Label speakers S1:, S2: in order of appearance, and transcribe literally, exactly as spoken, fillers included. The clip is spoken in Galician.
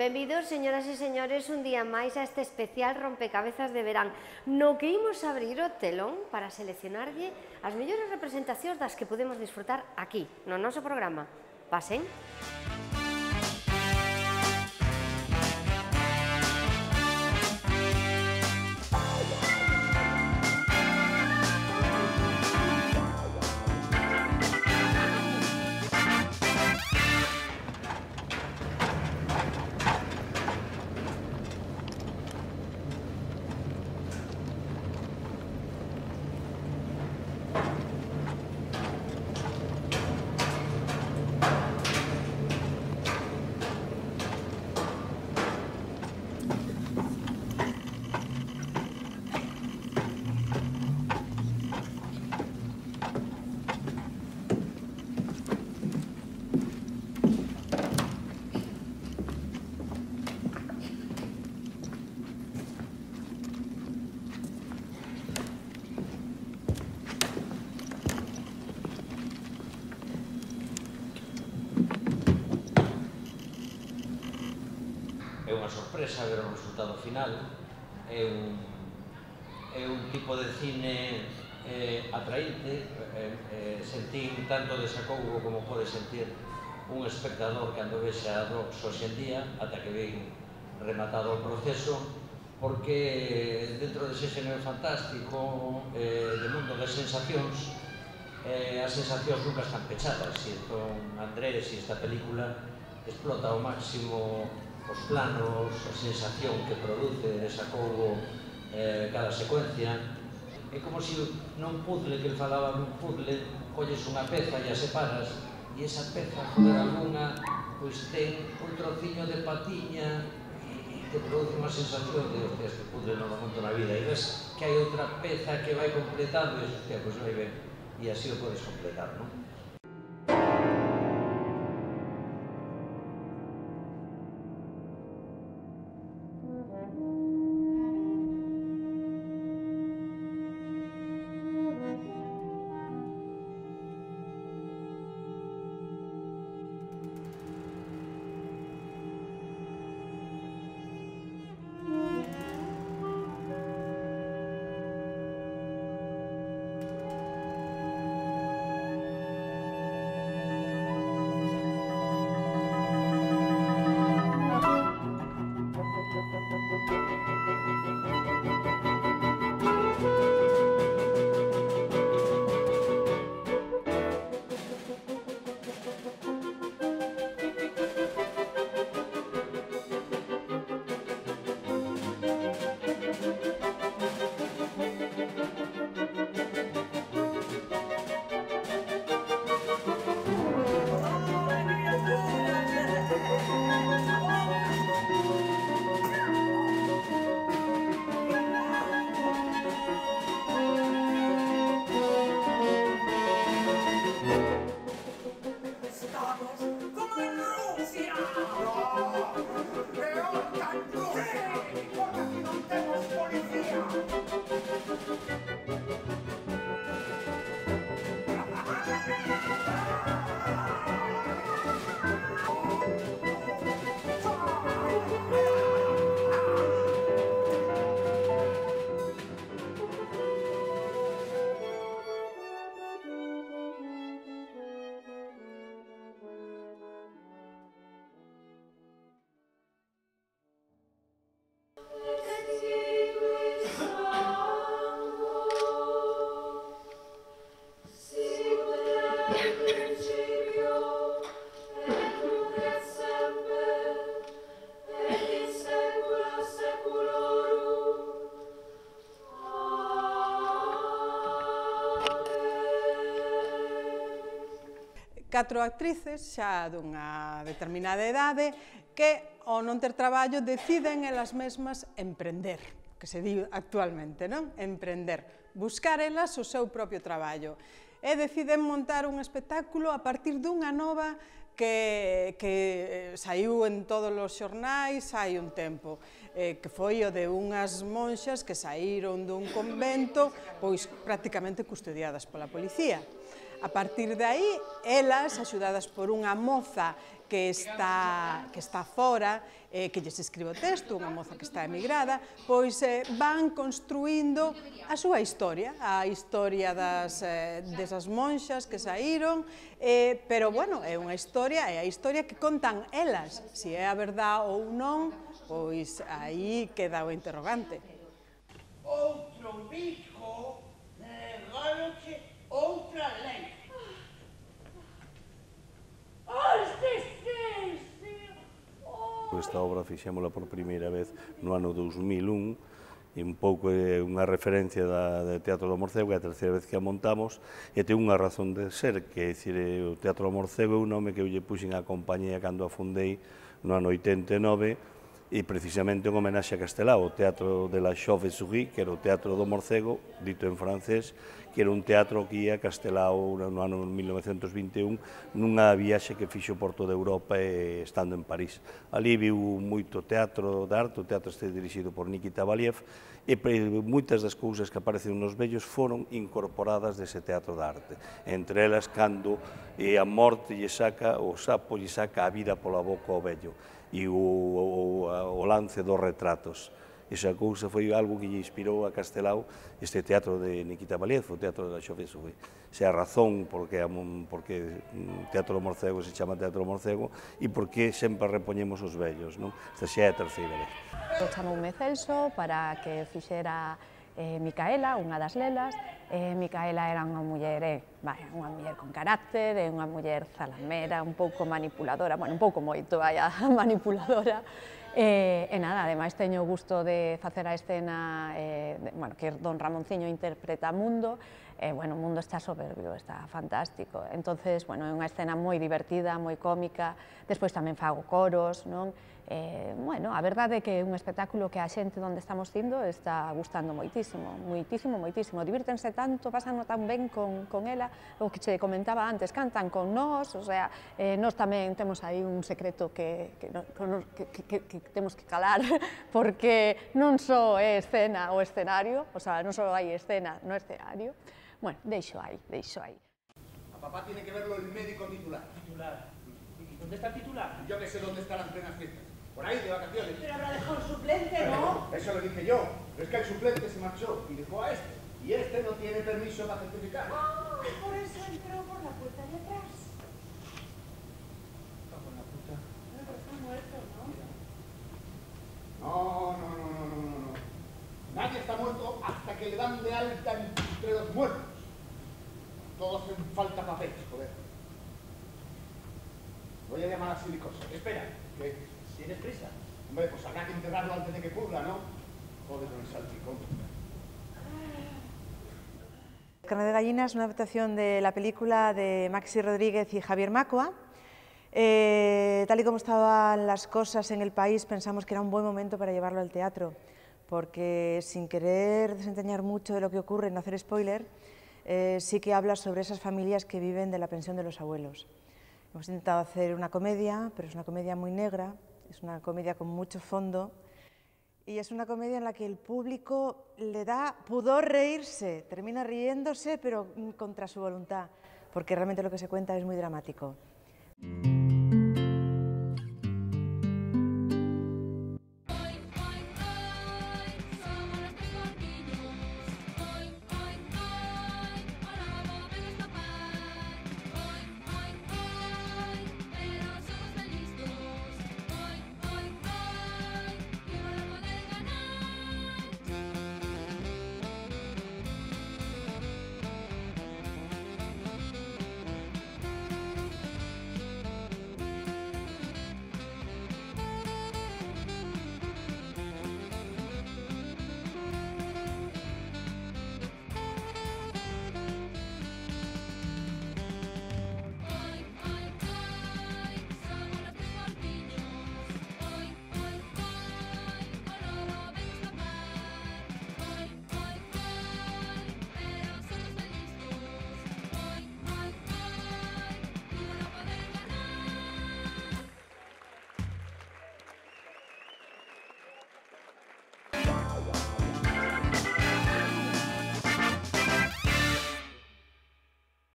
S1: Benvidos, señoras e señores, un día máis a este especial rompecabezas de verán, no que imos abrir o telón para seleccionarlle as mellores representacións das que podemos disfrutar aquí, no noso programa. Pasen.
S2: É unha sorpresa ver o resultado final. É un, é un tipo de cine eh, atraínte. Eh, eh, sentín tanto desacougo como pode sentir un espectador cando vexa a Docs hoxe en día, ata que ven rematado o proceso, porque dentro dese xénero fantástico, eh, de mundo das sensacións, eh, as sensacións nunca están pechadas, e entón Andrés e esta película explota ao máximo os planos, a sensación que produce desacougo eh, cada secuencia. É como se non puzzle, que ele falaba nun puzzle, colles unha peza e a separas, e esa peza, joder, alguna, pois ten un trociño de patiña e te produce unha sensación de, hostia, este puzzle non lo monto na vida, e ves que hai outra peza que vai completando, e hostia, pois vai ben, e así o podes completar, non?
S3: Catro actrices xa dunha determinada idade que, ao non ter traballo, deciden elas mesmas emprender, que se di actualmente, non? Emprender, buscar elas o seu propio traballo. E deciden montar un espectáculo a partir dunha nova que, que saiu en todos os xornais hai un tempo, eh, que foi o de unhas monxas que saíron dun convento, pois prácticamente custodiadas pola policía. A partir de aí, elas, axudadas por unha moza que está, que está fora, eh, que lles escribe o texto, unha moza que está emigrada, pois eh, van construindo a súa historia, a historia das, eh, desas monxas que saíron, eh, pero, bueno, é unha historia, é a historia que contan elas. Se é a verdade ou non, pois aí queda o interrogante.
S4: Outro bico, regáloche outra lei.
S5: Esta obra fixémola por primeira vez no ano dous mil un, e un pouco é unha referencia da, do Teatro do Morcego, é a terceira vez que a montamos, e ten unha razón de ser, que é dicir, o Teatro do Morcego é un nome que eu lle puxen á compañía cando a fundei no ano oitenta e nove, e precisamente en homenaxe a Castelao, o Teatro de la Chauve-souris, que era o Teatro do Morcego, dito en francés, que era un teatro que ia a Castelao no ano mil novecentos vinte e un nunha viaxe que fixo por toda Europa e estando en París. Ali viu moito teatro de arte, o teatro este dirixido por Nikita Valiev, e moitas das cousas que aparecen nos vellos foron incorporadas dese teatro de arte. Entre elas, cando a morte lle saca, o sapo lle saca a vida pola boca ao vello, e o, o, o lance dos retratos. Esa cousa foi algo que lle inspirou a Castelao este teatro de Nikita Valiev, o Teatro de la Chauve-souris. Esa é a razón porque o Teatro do Morcego se chama Teatro do Morcego e porque sempre repoñemos os vellos. Esta xa é a terceira vez.
S6: Chamoume Celso para que fixera eh, Micaela, unha das lelas. Eh, Micaela era unha muller, eh, vai, unha muller con carácter, eh, unha muller zalamera, un pouco manipuladora, bueno, un pouco moito, vai, manipuladora. E, e nada, ademais teño o gusto de facer a escena, eh, de, bueno, que don Ramonciño interpreta a Mundo, e, bueno, o Mundo está soberbio, está fantástico. Entonces, bueno, é unha escena moi divertida, moi cómica, despois tamén fago coros, non? Eh, bueno, a verdade é que é un espectáculo que a xente onde estamos indo está gustando moitísimo, moitísimo, moitísimo. Divírtense tanto, pasan tan ben con, con ela, o que che comentaba antes, cantan con nós, o sea, eh, nós tamén temos aí un secreto que, que, que, que, que temos que calar, porque non só é escena o escenario, o sea, non só hai escena no escenario. Bueno, deixo aí, deixo aí.
S4: A papá tiene que verlo el médico titular.
S7: ¿Titular? ¿Y dónde está el titular?
S4: Yo que sé dónde están las plenas fiestas. Por ahí, de vacaciones.
S8: Pero habrá dejado el suplente, ¿no?
S4: Eso lo dije yo. Pero es que el suplente se marchó y dejó a este. Y este no tiene permiso para certificar.
S8: Ah, por eso entró por la puerta de atrás.
S7: Está con la puta.
S8: No, pero está muerto, ¿no?
S4: No, no, no, no, no, no, no. Nadie está muerto hasta que le dan de alta entre los muertos. Todos hacen falta papeles, joder. Voy a llamar a Silicosa.
S7: Espera.
S4: ¿Qué?
S7: ¿Tienes prisa?
S4: Hombre, pues habrá que enterrarlo antes de que pudra, ¿no? Joder, con el salpicón.
S9: Carne de gallina es una adaptación de la película de Maxi Rodríguez y Javier Macua. Eh, tal y como estaban las cosas en el país, pensamos que era un buen momento para llevarlo al teatro, porque sin querer desentrañar mucho de lo que ocurre, no hacer spoiler, eh, sí que habla sobre esas familias que viven de la pensión de los abuelos. Hemos intentado hacer una comedia, pero es una comedia muy negra, es una comedia con mucho fondo, y es una comedia en la que el público le da pudor reírse, termina riéndose, pero contra su voluntad, porque realmente lo que se cuenta es muy dramático.